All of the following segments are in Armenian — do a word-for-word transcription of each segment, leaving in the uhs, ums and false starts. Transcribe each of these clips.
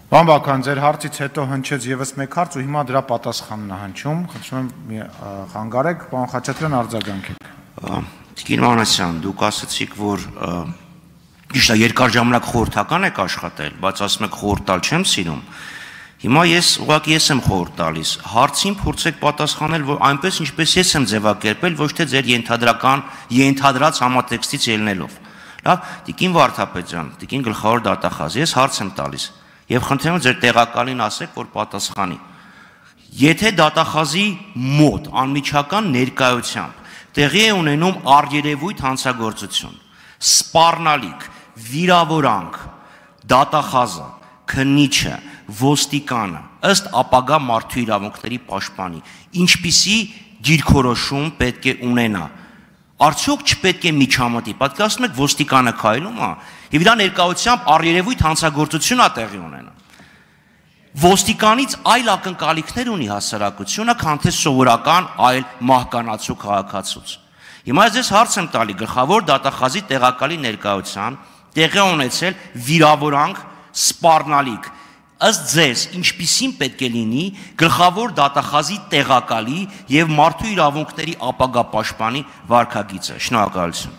Պարոն Բակոյան, ձեր հարցից հետո հնչեց եւս մեկ հարց ու հիմա դրա պատասխանն է հնչում։ Խնդրում եմ խանգարեք, պարոն Խաչատրյան, արձագանքեք։ Տիկին Մանասյան, դուք ասացիք, որ ճիշտ է, երկար ժամանակ խորհրդական եք աշխատել, բայց ասում եք խորհուրդ տալ չեմ սիրում։ Հիմա ես ուղղակի ես եմ խորհուրդ տալիս, հարցին փորձեք պատասխանել, որ այնպես ինչպես ես եմ ձևակերպել, ոչ թե ձեր ենթադրական, ենթադրած համատեքստից ելնելով։ Լավ, տիկին Վարդապետյան, տիկին գլխավոր դատախազ, ես հարց եմ տալիս եւ խնդրում եմ ձեր տեղակալին ասեք, որ պատասխանի։ Եթե դատախազի մոտ անմիջական ներկայությամբ տեղի է ունենում առերևույթ հանցագործություն, սպառնալիք, վիրավորանք, դատախազը, քննիչը, ոստիկանը, ըստ ապագա մարդու իրավունքների պաշտպանի, ինչպիսի դիրքորոշում պետք է ունենա։ Արդյոք չպետք է միջամտի, պատկերացնում եք ոստիկանը քայլում է, եւ իր ներկայությամբ առերևույթ հանցագործություն է տեղի ունենում։ Ոստիկանից այլ ակնկալիքներ ունի հասարակությունը, քան թե սովորական այլ մահկանացու քաղաքացուց։ Հիմա ես հարց եմ տալի գլխավոր դատախազի տեղակալի ներկայությամբ տեղի ունեցել վիրավորանք, սպառնալիք։ Ըստ ձեզ, ինչպիսին պետք է լինի գլխավոր դատախազի տեղակալի եւ մարդու իրավունքների ապագա պաշտպանի վարքագիծը։ Շնորհակալություն։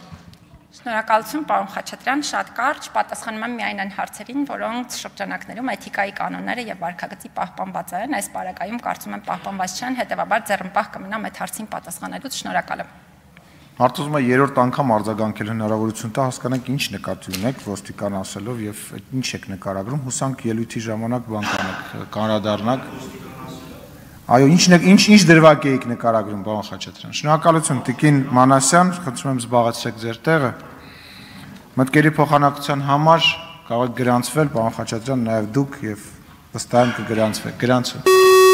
Շնորհակալություն, պարոն Խաչատրյան, շատ կարճ պատասխանում եմ միայն այն հարցերին, որոնց շրջանակներում էթիկայի կանոնները եւ վարքագծի պահպանված են, այս բարակայում կարծում եմ պահպանված չեն, հետեւաբար ձեռնպահ կմնամ այդ հարցին պատասխանելուց։ Շնորհակալ եմ։ Հարցում է երրորդ անգամ արձագանքել հնարավորություն տա հասկանանք ինչ նկատի ունեք ոստիկան ասելով եւ ինչ եք նկարագրում, հուսանք ելույթի ժամանակ բան կանեք, կանրադառնաք։ Այո, ինչ ինչ ինչ դրվագ եք նկարագրում, պարոն Խաչատրյան։ Շնորհակալություն, տիկին Մանասյան, խնդրում եմ զբաղեցրեք ձեր տեղը։ Մտքերի փոխանակության համար կարող եք գրանցվել, պարոն Խաչատրյան, նաեւ դուք եւ վստահ եմ կգրանցվեք։ Գրանցվեք։